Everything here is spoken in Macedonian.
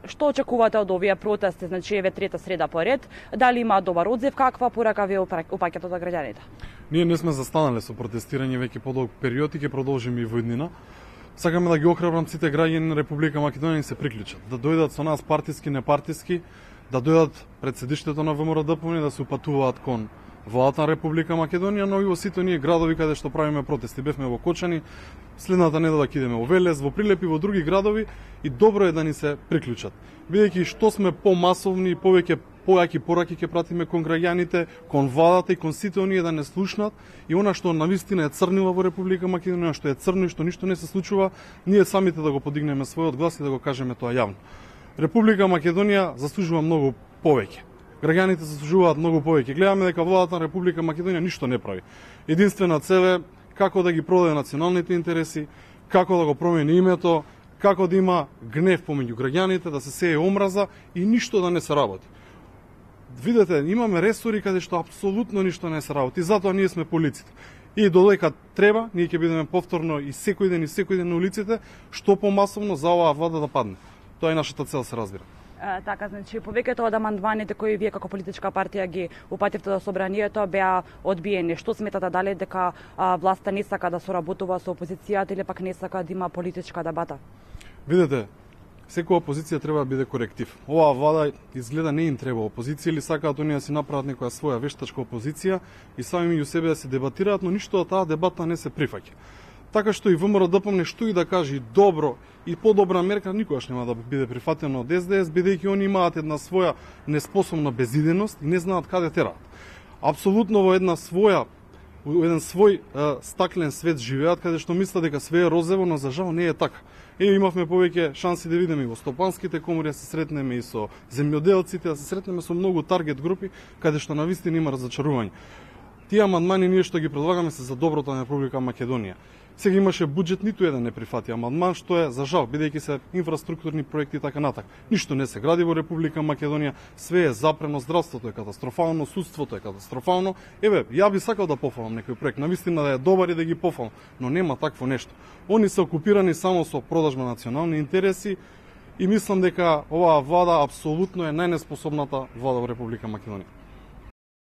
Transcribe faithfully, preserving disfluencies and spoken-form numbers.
Што очекувате од овие протести, значи еве трета среда поред? Дали има добар одзив, каква порака ви упаќате за граѓаните? Ние не сме застанале со протестирање веќе подолг период и ќе продолжиме и во иднина. Сакаме да ги охрабрам сите граѓани на Република Македонија да се приклучат, да дојдат со нас партиски, непартиски, да дојдат пред седиштето на ВМРО-ДПМН да се упатуваат кон владата на Република Македонија, но и во сите ние градови каде што правиме протести. Бевме во Кочани, следната недела ќе идеме во Велес, во Прилеп и во други градови и добро е да ни се приклучат. Бидејќи што сме помасовни и повеќе појаки пораки ќе пратиме кон граѓаните, кон владата и кон сите оние да не слушнат и она што навистина е црнила во Република Македонија, што е црно и што ништо не се случува, ние самите да го подигнеме својот глас и да го кажеме тоа јавно. Република Македонија заслужува многу повеќе. Граѓаните заслужуваат многу повеќе. Гледаме дека владата на Република Македонија ништо не прави. Единствена цел е како да ги продаде националните интереси, како да го промени името, како да има гнев помеѓу граѓаните, да се сее омраза и ништо да не се работи. Видете, имаме ресори каде што апсолутно ништо не се работи, затоа ние сме полиците. И додека треба, ние ќе бидеме повторно и секој ден и секој ден на улиците, што помасовно за оваа влада да падне. Тоа е нашата цел, се разбира. А, така, значи, повеќето од амандманите кои вие како политичка партија ги упативте до собранието беа одбиени. Што сметате, дали дека а, власта не сака да соработува со опозицијата или пак не сака да има политичка дебата? Видете, секоја опозиција треба да биде коректив. Оваа влада изгледа не им треба опозиција или сакаат оние да си направат некоја своја вештачка опозиција и сами меѓу себе да се дебатираат, но ништо од таа дебата не се прифаќа. Така што и ВМРО-ДПМН што и да каже добро и подобра мерка никогаш нема да биде прифатено од ес де ес, бидејќи они имаат една своја неспособна безиденост и не знаат каде тераат. Апсолутно во една своја во еден свој е, стаклен свет живеат каде што мислат дека све е розово, но за жал не е така. Е, имавме повеќе шанси да видиме и во стопанските комори, да се сретнеме и со земјоделците, да се сретнеме со многу таргет групи каде што навистина има разочарување. Тие амандмани ние што ги предлагаме се за доброто на Република Македонија. Сега имаше буџет, ниту еден не прифати амандман, што е за жал, бидејќи се инфраструктурни проекти и така натак. Ништо не се гради во Република Македонија, све е запрено, здравството е катастрофално, судството е катастрофално. Еве, ја би сакал да пофалам некој проект, навистина да е добар и да ги пофалам, но нема такво нешто. Они се окупирани само со продажба на национални интереси и мислам дека оваа влада апсолутно е најнеспособната влада во Република Македонија.